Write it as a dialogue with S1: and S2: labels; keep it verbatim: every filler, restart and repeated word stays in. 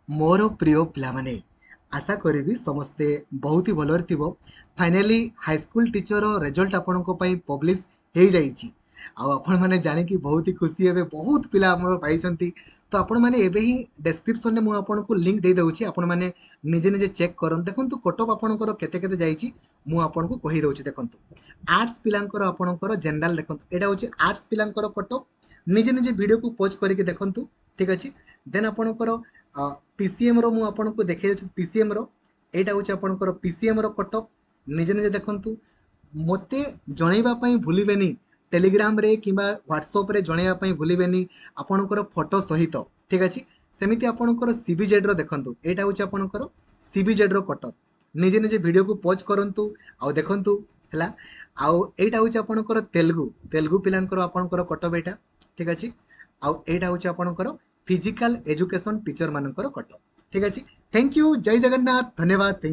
S1: ମୋର ପ୍ରିୟ ପିଲାମାନେ ଆଶା କରିବି ସମସ୍ତେ ବହୁତ ହି ଭଲରେ ଥିବ finally high school teacher result ଆପଣଙ୍କ ପାଇଁ ପବ୍ଲିଶ ହେଇଯାଇଛି ଆଉ ଆପଣମାନେ ଜାଣିକି ବହୁତ ହି ଖୁସି ହେବେ ବହୁତ ପିଲା ଆମର ପାଇଛନ୍ତି ତ ଆପଣମାନେ ଏବେ ହିଁ ଡେସ୍କ୍ରିପସନରେ ମୁଁ ଆପଣଙ୍କୁ ଲିଙ୍କ୍ ଦେଇଦେଉଛି ଆପଣମାନେ ନିଜେ ନିଜେ ଚେକ୍ କରନ୍ତୁ ଦେଖନ୍ତୁ କଟଅଫ୍ ଆପଣଙ୍କର କେତେ କେତେ ଯାଇଛି ମୁଁ ଆପଣଙ୍କୁ କହିଦେଉଛି ଦେଖନ୍ତୁ ଆର୍ଟ୍ସ ପିଲାଙ୍କର ଆପଣଙ୍କର ଜେନେରାଲ ଦେଖନ୍ତୁ ଏଇଟା ହେଉଛି ଆର୍ଟ୍ସ ପିଲାଙ୍କର କଟଅଫ୍ ନିଜେ ନିଜେ ଭିଡ଼ିଓକୁ ପଜ୍ କରିକି ଦେଖନ୍ତୁ ଠିକ୍ ଅଛି ଦେନ୍ ଆପଣଙ୍କର ପିସିଏମ୍ର ମୁଁ ଆପଣଙ୍କୁ ଦେଖେଇ ଦେଉଛି ପିସିଏମ୍ର ଏଇଟା ହେଉଛି ଆପଣଙ୍କର ପିସିଏମ୍ର କଟଅଫ୍ ନିଜେ ନିଜେ ଦେଖନ୍ତୁ ମୋତେ ଜଣେଇବା ପାଇଁ ଭୁଲିବେନି ଟେଲିଗ୍ରାମରେ କିମ୍ବା ହ୍ୱାଟ୍ସଆପ୍ରେ ଜଣେଇବା ପାଇଁ ଭୁଲିବେନି ଆପଣଙ୍କର ଫଟୋ ସହିତ ଠିକ୍ ଅଛି ସେମିତି ଆପଣଙ୍କର ସିବିଜେଡ଼୍ର ଦେଖନ୍ତୁ ଏଇଟା ହେଉଛି ଆପଣଙ୍କର ସିବିଜେଡ଼୍ର କଟଅଫ୍ ନିଜେ ନିଜେ ଭିଡ଼ିଓକୁ ପଜ୍ କରନ୍ତୁ ଆଉ ଦେଖନ୍ତୁ ହେଲା ଆଉ ଏଇଟା ହେଉଛି ଆପଣଙ୍କର ତେଲୁଗୁ ତେଲୁଗୁ ପିଲାଙ୍କର ଆପଣଙ୍କର କଟଅଫ୍ ଏଇଟା ଠିକ୍ ଅଛି ଆଉ ଏଇଟା ହେଉଛି ଆପଣଙ୍କର ଫିଜିକାଲ ଏଜୁକେସନ୍ ଟିଚର ମାନଙ୍କର କଟଅଫ୍ ଠିକ୍ ଅଛି thank you Jay Jagannath ଧନ୍ୟବାଦ thank